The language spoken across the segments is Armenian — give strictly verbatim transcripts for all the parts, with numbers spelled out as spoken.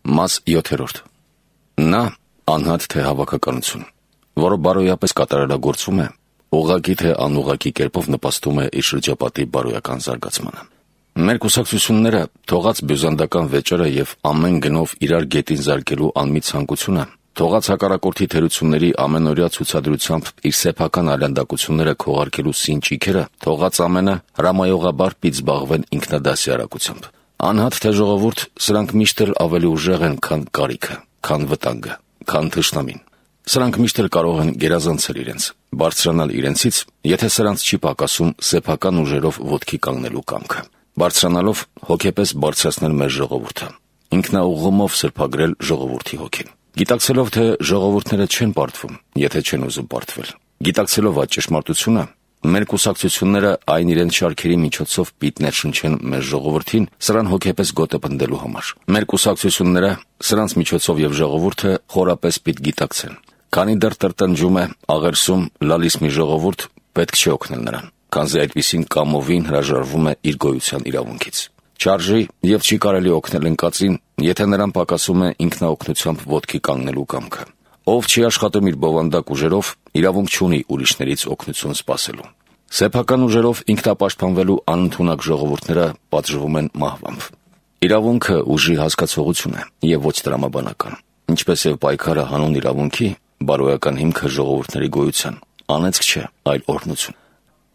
Մաս յոթերորդ. Նա անհատ թե հավաքականություն, որը բարոյապես կատարելագործվում է, ուղղակի թե անուղղակի կերպով նպաստում է իր շրջապատի բարոյական զարգացմանը։ Մեր կուսակցությունները թողած բյուզանդական վեճերը եւ ամեն գնով իրար գետին զարկելու անմիջ ցանկությունը, թողած հակառակորդի թերությունների ամենօրյա ցուցադրությամբ իր սեփական այլանդակությունները քողարկելու սին ճիքերը, թողած ամենը հրամայողաբար պիտի զբաղվեն ինքնադասյարակությամբ։ Անհատ թե ժողովուրդ, սրանք միշտ էլ ավելի ուժեղ են, քան կարիքը, քան վտանգը, քան թշնամին։ Սրանք միշտ էլ կարող են գերազանցել իրենց, բարձրանալ իրենցից, եթե սրանց չի պակասում սեփական ուժերով ոտքի կանգնելու կամքը, բարձրանալով հոգեպես բարձրացնել մեր ժողովուրդը, ինքնաուղղումով սրբագրել ժողովրդի հոգին։ Գիտակցելով, թե ժողովուրդները չեն պարտվում, եթե չեն ուզում պարտվել, գիտակցելով այդ ճշմարտությունը, մեր կուսակցությունները այն իրենց շարքերի միջոցով պիտի ներշնչեն մեր ժողովրդին սրան հոգեպես գոտը պնդելու համար։ Մեր կուսակցությունները սրանց միջոցով եւ ժողովուրդը խորապես պիտի գիտակցեն, քանի դեռ տրտնջում է, աղերսում, լալիս մի ժողովուրդ, պետք չի օգնել նրան, քանզի այդպիսին կամովին հրաժարվում է իր գոյության իրավունքից։ Չարժի եւ չի կարելի օգնել ընկածին, եթե նրան պակասում է ինքնաօգնությամբ ոտքի կանգնելու կամքը։ Ով չի աշխատում իր բովանդակ ուժերով, իրավունք չունի ուրիշներից օգնություն սպասելու։ Սեփական ուժերով ինքնապաշտպանվելու անընդունակ ժողովուրդները պատժվում են մահվամբ։ Իրավունքը ուժի հասկացողություն է եւ ոչ տրամաբանական, ինչպես եւ պայքարը հանուն իրավունքի, բարոյական հիմքը ժողովուրդների գոյության, անեծք չէ, այլ օրհնություն։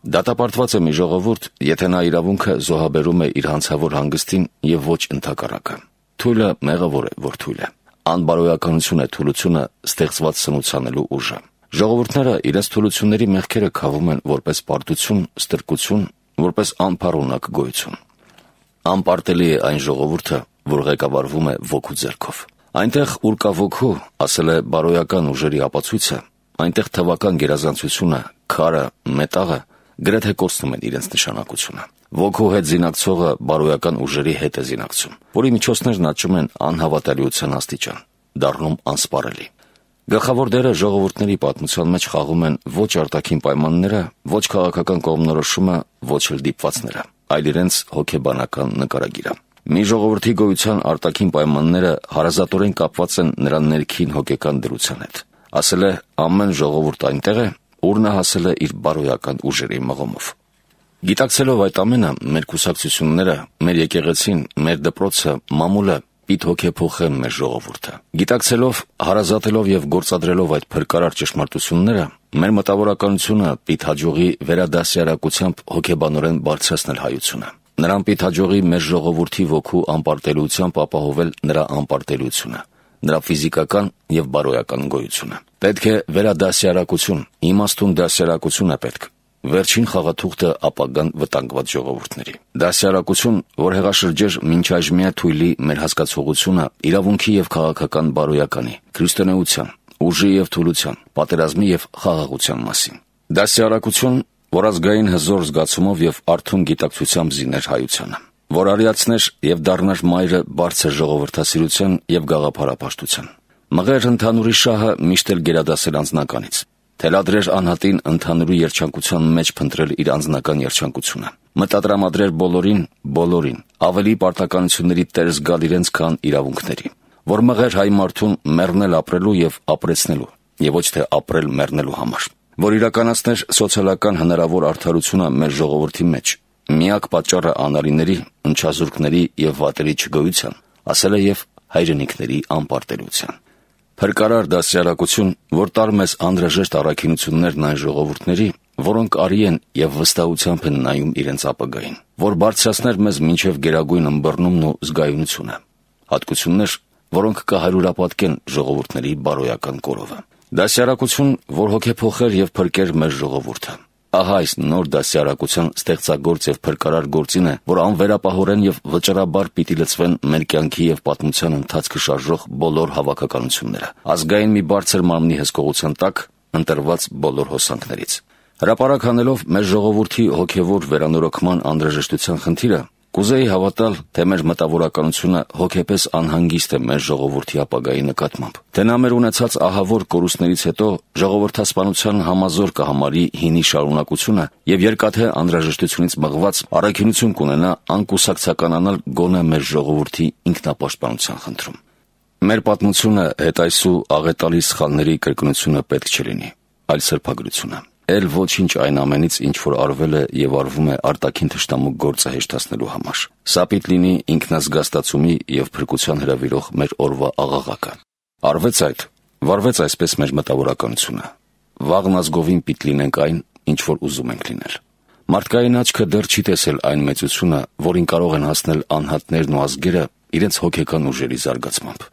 Դատապարտված է մի ժողովուրդ, եթե նա իրավունքը զոհաբերում է իր հանցավոր հանգստին եւ ոչ ընդհակառակը։ Թույլը մեղավոր է, որ թույլ է։ Անբարոյականություն է թուլությունը ստեղծված սնուցանելու ուժը։ Ժողովուրդները իրենց թուլությունների մեղքերը քավում են որպես պարտություն, ստրկություն, որպես անփառունակ գոյություն։ Անպարտելի է այն ժողովուրդը, որ ղեկավարվում է ոգու ձեռքով։ Այնտեղ, ուր կա ոգու, ասել է բարոյական ուժերի ապացույցը, այնտեղ թվական գերազանցությունը, քարը, մետաղը գրեթե կորցնում են իրենց նշանակությունը։ Ոգու հետ զինակցողը բարոյական ուժերի հետ է զինակցում, որի միջոցներն աճում են անհավատալիության աստիճան, դառնում անսպառելի։ Գլխավոր դերը ժողովուրդների պատմության մեջ խաղում են ոչ արտաքին պայմանները, ոչ քաղաքական կողմնորոշումը, ոչ էլ դիպվածները, այլ իրենց հոգեբանական նկարագիրը։ Մի ժողովրդի գոյության արտաքին պայմանները հարազատորեն կապված են նրա ներքին հոգեկան դրության հետ։ Ասել է ամեն ժողովուրդ այնտեղ է, ուր նա հասել է իր բարոյական ուժերի մղումով։ Գիտակցելով այդ ամենը, մեր կուսակցությունները, մեր եկեղեցին, մեր դպրոցը, մամուլը պիտի հոգեփոխեն մեր ժողովուրդը։ Գիտակցելով, հարազատելով եւ գործադրելով այդ փրկարար ճշմարտությունները, մեր մտավորականությունը պիտի հաջողի վերադասյարակությամբ հոգեբանորեն բարձրացնել հայությունը։ Նրան պիտի հաջողի մեր ժողովրդի ոգու անպարտելիությամբ ապահովել նրա անպարտելիությունը, նրա ֆիզիկական եւ բարոյական գոյությունը։ Պետք է վերադասյարակություն, իմաստուն դասյարակություն է պետք։ Վերջին խաղաթուղթը ապագան վտանգված ժողովուրդների։ Դասյարակություն, որ հեղաշրջեր մինչ այժմյա թույլի մեր հասկացողությունը իրավունքի եւ քաղաքական բարոյականի, քրիստոնեության, ուժի եւ թուլության, պատերազմի եւ խաղաղության մասին։ Դասյարակություն, որ ազգային հզոր զգացումով եւ արթուն գիտակցությամբ զիներ հայությանը, որ արիացներ եւ դառնար մայրը բարձր ժողովրդասիրության եւ գաղափարապաշտության։ Մղեր ընդհանուրի շահը միշտ էլ գերադասել անձնականից, թելադրեր անհատին ընդհանուրի երջանկության մեջ փնտրել իր անձնական երջանկությունը, մտադրամադրեր բոլորին, բոլորին, ավելի պարտականությունների տեր զգալ իրենց քան իրավունքների, որ մղեր հայ մարդուն մեռնել ապրելու եւ ապրեցնելու, եւ ոչ թե ապրել մեռնելու համար, որ իրականացներ սոցիալական հնարավոր արդարությունը մեր ժողովրդի մեջ, միակ պատճառը անարիների, ընչազուրկների եւ վատերի չգոյության, ասել է եւ հայրենիքների անպարտելիության։ Փրկարար դասյարակություն, որ տար մեզ անհրաժեշտ առաքինություններն այն ժողովուրդների, որոնք արի են եւ վստահությամբ են նայում իրենց ապագային, որ բարձրացներ մեզ մինչեւ գերագույն ըմբռնումն ու զգայունությունը, հատկություններ, որոնք կհարյուրապատկեն ժողովուրդների բարոյական կորովը։ Դասյարակություն, որ հոգեփոխեր եւ փրկեր մեր ժողովուրդը։ Ահա այս նոր դասյարակության ստեղծագործ եւ փրկարար գործին է, որ անվերապահորեն եւ վճռաբար պիտի լցվեն մեր կյանքի եւ պատմության ընթացքը շարժող բոլոր հավաքականությունները, ազգային մի բարձր մարմնի հսկողության տակ ընտրված բոլոր հոսանքներից։ Հրապարակ հանելով մեր ժողովրդի հոգեվոր վերանորոգման անհրաժեշտության խնդիրը, կուզեի հավատալ, թե մեր մտավորականությունը հոգեպես անհանգիստ է մեր ժողովրդի ապագայի նկատմամբ, թե նա մեր ունեցած ահավոր կորուստներից հետո ժողովրդասպանության համազոր կհամարի հինի շարունակությունը եւ երկաթե անհրաժեշտությունից մղված առաքինություն կունենա անկուսակցականանալ գոնե մեր ժողովրդի ինքնապաշտպանության խնդրում։ Մեր պատմությունը հետայսու աղետալի սխալների կրկնությունը պետք չլինի, այլ սրբագրությունը։ Էլ ոչինչ այն ամենից, ինչ որ արվել է եւ արվում է արտաքին թշնամու գործը հեշտացնելու համար։ Սա պիտի լինի ինքնազգաստացումի եւ փրկության հրավիրող մեր օրվա աղաղակը։ Արվեց այդ, վարվեց այսպես մեր մտավորականությունը։ Վաղն ազգովին պիտի լինենք այն, ինչ որ ուզում ենք լինել։ Մարդկային աչքը դեռ չի տեսել այն մեծությունը, որին կարող են հասնել անհատներն ու ազգերը իրենց հոգեկան ուժերի զարգացմամբ։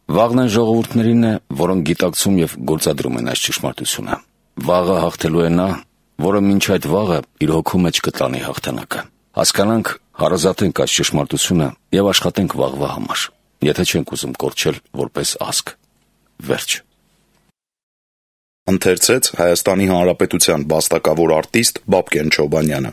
Վաղն այն ժողովուրդներին է, որոնք գիտակցում եւ գործադրում են այս ճշմարտությունը։ Վաղը հաղթելու է նա, որը մինչ այդ վաղը իր հոգու մեջ կտանի հաղթանակը։ Հասկանանք, հարազատենք այս ճշմարտությունը եւ աշխատենք վաղվա համար, եթե չենք ուզում կորչել որպես ազգ։ Վերջ։ Ընթերցեց Հայաստանի Հանրապետության վաստակավոր արտիստ Բաբկեն Չոբանյանը։